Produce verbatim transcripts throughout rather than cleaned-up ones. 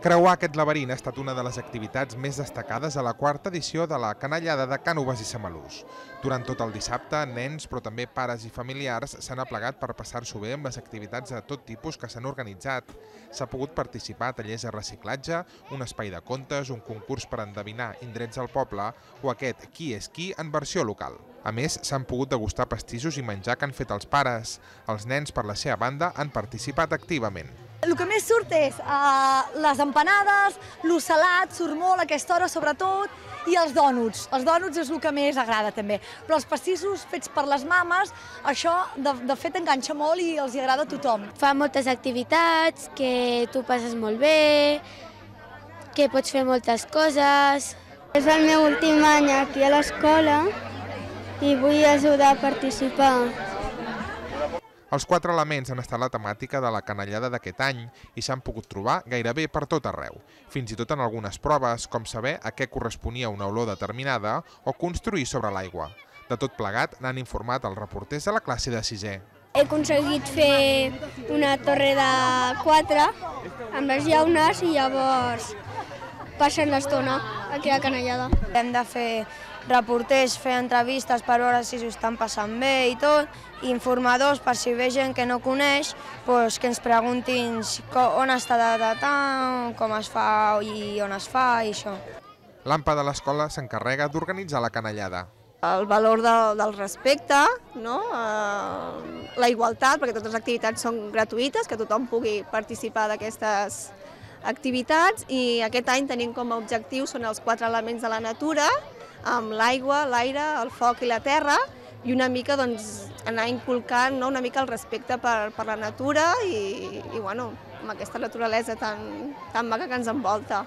Creuar aquest laberint ha estat una de les activitats més destacades a la quarta edició de la Canallada de Cànoves i Samalús. Durant tot el dissabte, nens, però també pares i familiars s'han aplegat per passar-s'ho bé amb les activitats de tot tipus que s'han organitzat. S'ha pogut participar a tallers de reciclatge, un espai de contes, un concurs per endevinar indrets del poble o aquest Qui és qui en versió local. A més, s'han pogut degustar pastissos i menjar que han fet els pares. Els nens, per la seva banda, han participat activament. El que més surt és uh, les empanades, l'ocelat, surt molt a aquesta hora sobretot, i els dònuts. Els dònuts és el que més agrada també. Però els pastissos fets per les mames, això de, de fet enganxa molt i els hi agrada a tothom. Fa moltes activitats, que tu passes molt bé, que pots fer moltes coses. És el meu últim any aquí a l'escola i vull ajudar a participar. Els quatre elements han estat la temàtica de la canallada d'aquest any i s'han pogut trobar gairebé per tot arreu, fins i tot en algunes proves, com saber a què corresponia una olor determinada o construir sobre l'aigua. De tot plegat n'han informat els reporters de la classe de sisè. He aconseguit fer una torre de quatre amb les llaunes i llavors passen l'estona aquí a la canallada. Hem de fer reporters, fer entrevistes per veure si s'ho estan passant bé i tot, i informadors per si ve gent que no coneix, doncs que ens preguntin on està datant, com es fa i on es fa i això. L'A M P A de l'escola s'encarrega d'organitzar la canallada. El valor de, del respecte, no? eh, la igualtat, perquè totes les activitats són gratuïtes, que tothom pugui participar d'aquestes activitats, i aquest any tenim com a objectiu són els quatre elements de la natura, amb l'aigua, l'aire, el foc i la terra, i una mica doncs, anar inculcant no? una mica el respecte per, per la natura i, i bueno, amb aquesta naturalesa tan, tan maca que ens envolta.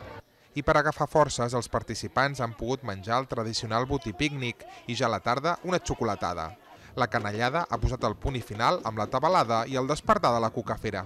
I per agafar forces, els participants han pogut menjar el tradicional botí pícnic i ja a la tarda una xocolatada. La canallada ha posat el punt i final amb la tabalada i el despertar de la cucafera.